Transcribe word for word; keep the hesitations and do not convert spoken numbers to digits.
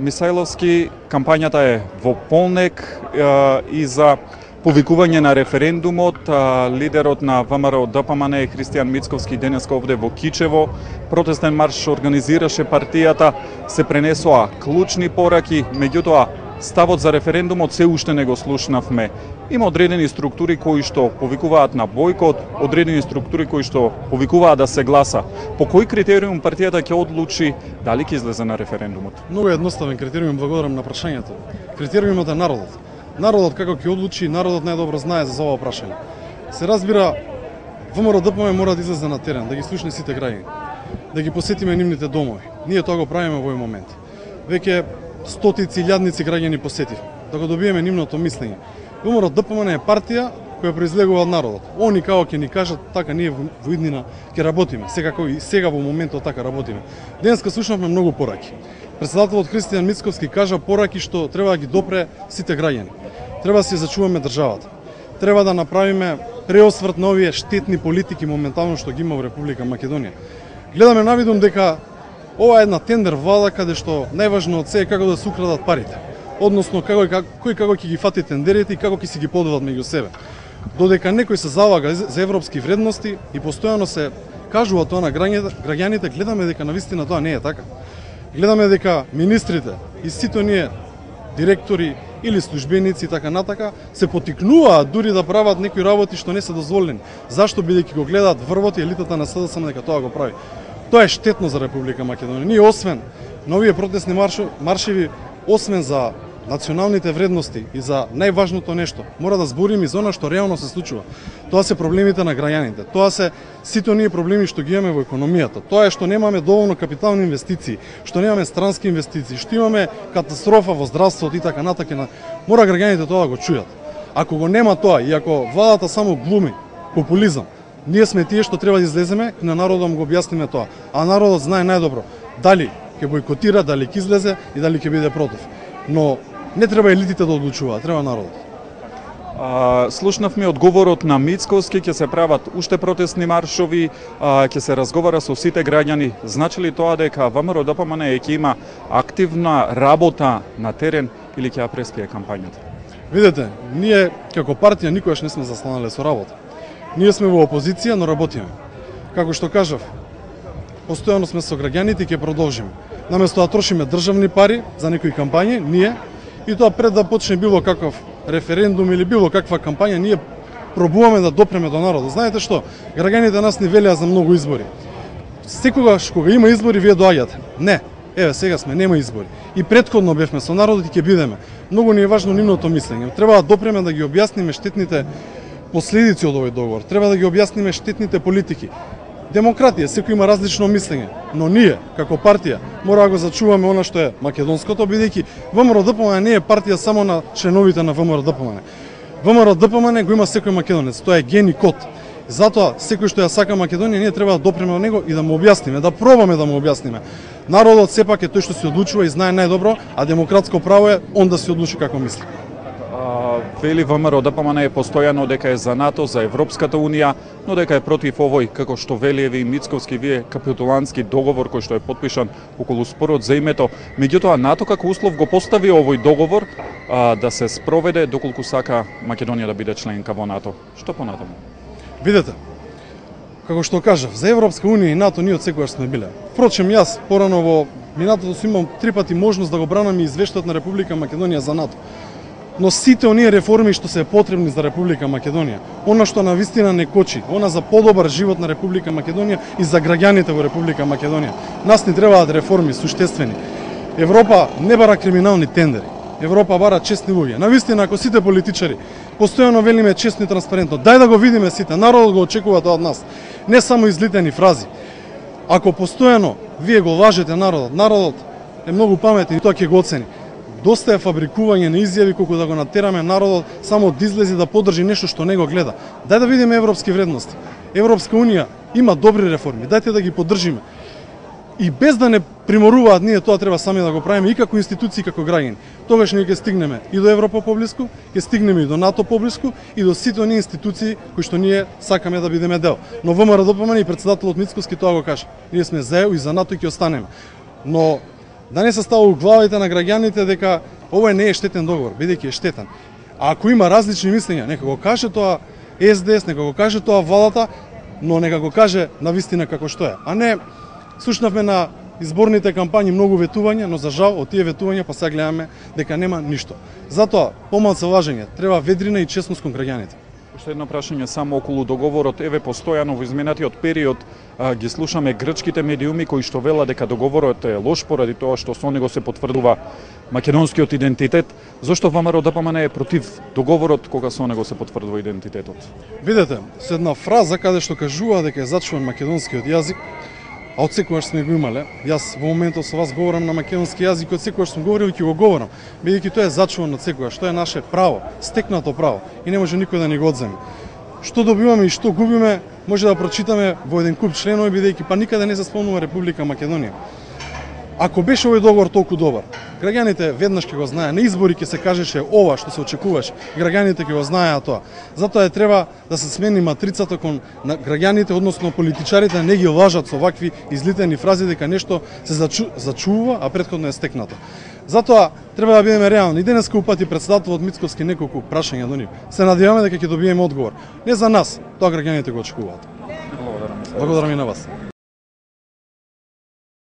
Мисајловски, кампањата е во полнек и за повикување на референдумот. Лидерот на ВМРО Д П М Н Христијан Мицковски денеска овде во Кичево протестен марш организираше партијата, се пренесоа клучни пораки, меѓутоа ставот за референдумот се уште не го слушнавме. Има одредени структури кои што повикуваат на бојкот, одредени структури кои што повикуваат да се гласа. По кој критериум партијата ќе одлучи дали ќе излезе на референдумот? Многу едноставен критериум, благодарам на прашањето. Критериумот е народот. Народот како ќе одлучи, народот најдобро знае за ова прашање. Се разбира, ВМРО Д П М мора да излезе на терен, да ги слушне сите граѓани, да ги посетиме нивните домови. Ние тоа го правиме во овој момент. Веќе стотици илјадници граѓани посетив, да го добиеме нивното мислење. ВМРО Д П М е партија која произлегува од народот. Они како ќе ни кажат, така ние во иднина ќе работиме. Секако и сега во моментот така работиме. Денеска слушнавме многу пораки. Председателот Христијан Мицковски кажа пораки што треба да ги допре сите граѓани. Треба да си зачуваме државата. Треба да направиме преосврт на овие штетни политики моментално што ги има во Република Македонија. Гледаме навидум дека ова е една тендер влада каде што најважно од се е како да се украдат парите. Односно како кој како ќе ги фати тендерите и како ќе си ги поделат меѓу себе. Додека некој се залага за европски вредности и постојано се кажува тоа на граѓаните, гледаме дека навистина тоа не е така. Гледаме дека министрите и сите ние директори или службеници така натака се потикнуваат дури да прават некои работи што не се дозволени. Зашто, бидејќи го гледаат врвот и елитата на С Д С М дека тоа го прави. Тоа е штетно за Република Македонија. Ние освен на овие протестни маршеви, освен за националните вредности и за најважното нешто, мора да збориме и за она што реално се случува. Тоа се проблемите на граѓаните. Тоа се сите оние проблеми што ги имаме во економијата. Тоа е што немаме доволно капитални инвестиции, што немаме странски инвестиции, што имаме катастрофа во здравството и така натака. Мора граѓаните тоа да го чујат. Ако го нема тоа и ако владата само глуми популизам, ние сме тие што треба да излеземе и на народот му го објасниме тоа. А народот знае најдобро дали ќе бојкотира, дали ќе излезе и дали ќе биде против. Но не треба елитите да одлучуваат, треба народот. А, слушнавме одговорот на Мицковски, ќе се прават уште протестни маршови, а, ќе се разговара со сите граѓани. Значи ли тоа дека ВМРО Д П М Н ќе има активна работа на терен или ќе ја преспие кампањата? Видете, ние како партија никогаш не сме застанале со работа. Ние сме во опозиција, но работиме. Како што кажав, постојано сме со граѓаните и ќе продолжиме. Наместо да трошиме државни пари за некои кампањи, ние, и тоа пред да почне било каков референдум или било каква кампања, ние пробуваме да допреме до народот. Знаете што? Граѓаните нас ни велеа за многу избори. Секогаш кога има избори, вие доаѓате. Не, еве сега сме, нема избори. И претходно бевме со народот и ќе бидеме. Многу ни е важно нивното мислење. Треба да допреме да ги објасниме штетните последици од овој договор. Треба да ги објасниме штетните политики. Демократија, секој има различно мислење, но ние, како партија, мора да го зачуваме она што е македонското, бидејќи ВМРО Д П М не е партија само на членовите на ВМРО Д П М. ВМРО Д П М го има секој македонец, тоа е ген и код. Затоа, секој што ја сака Македонија, ние треба да допреме до него и да му објасниме, да пробаме да му објасниме. Народот сепак е тој што се одлучува и знае најдобро, а демократско право е он да се одлучи како мисли. Вели ВМРО Д П М е постојано дека е за НАТО, за Европската Унија, но дека е против овој, како што вели еве и Мицковски, вие капитулантски договор кој што е потпишан околу спорот за името. Меѓутоа НАТО како услов го постави овој договор а, да се спроведе доколку сака Македонија да биде членка во НАТО. Што понатаму? Видете, како што кажав, за Европска Унија и НАТО ние од секогаш сме биле. Впрочем, јас порано во минатото сум имам три пати можност да го бранам и извештајот на Република Македонија за НАТО. Но сите оние реформи што се потребни за Република Македонија, она што навистина не кочи, она за подобар живот на Република Македонија и за граѓаните во Република Македонија. Нас ни требаат реформи суштествени. Европа не бара криминални тендери. Европа бара честни луѓе. Навистина, ако сите политичари постојано велиме честно и транспарентно, дај да го видиме сите, народот го очекува тоа од нас. Не само излитени фрази. Ако постојано вие го лажете народот, народот е многу паметен и тоа ќе го оцени. Доста е фабрикување на изјави колку да го натераме народот само да излези да поддржи нешто што не го гледа. Дај да видиме европски вредности. Европска Унија има добри реформи, дајте да ги поддржиме. И без да не приморуваат ние тоа треба сами да го правиме и како институции и како граѓани. Тогаш ние ќе стигнеме и до Европа поблиску, ќе стигнеме и до НАТО поблиску и до сите оние институции кои што ние сакаме да бидеме дел. Но ВМРО Д П М и председателот Мицковски тоа го кажа. Ние сме за ЕУ и за НАТО и ќе останеме. Но Да не се става у главите на граѓаните дека ова не е штетен договор, бидејќи е штетен. А ако има различни мислења, нека го каже тоа Ес Де Ес, нека го каже тоа владата, но нека го каже на вистина како што е. А не, слушнавме на изборните кампањи многу ветувања, но за жал од тие ветувања па сега гледаме дека нема ништо. Затоа, помалку лажење, треба ведрина и честност кон граѓаните. Уште едно прашање само околу договорот. Еве, постојано во изминатиот период а, ги слушаме грчките медиуми кои што велат дека договорот е лош поради тоа што со него се потврдува македонскиот идентитет. Зошто ВМРО Д П М Н е против договорот кога со него се потврдува идентитетот? Видете, со една фраза каде што кажува дека е зачуван македонскиот јазик, а од секогаш сме го имале. Јас во моментот со вас говорам на македонски јазик, од секогаш сум говорил и ќе го говорам, бидејќи тоа е зачувано од секогаш, тоа е наше право, стекнато право и не може никој да ни го одземе. Што добиваме и што губиме, може да прочитаме во еден куп членови, бидејќи па никаде не се спомнува Република Македонија. Ако беше овој договор толку добар, граѓаните веднаш ќе го знаеа, на избори ќе се кажеше ова што се очекуваше, граѓаните ќе го знаеа тоа. Затоа е треба да се смени матрицата кон граѓаните, односно политичарите, да не ги лажат со вакви излитени фрази дека нешто се зачу, зачува, а претходно е стекнато. Затоа треба да бидеме реални. И денеска упати претседателот Мицковски неколку прашања до нив. Се надеваме дека ќе добиеме одговор. Не за нас, тоа граѓаните го очекуваат. Благодарам. Благодарам и на вас.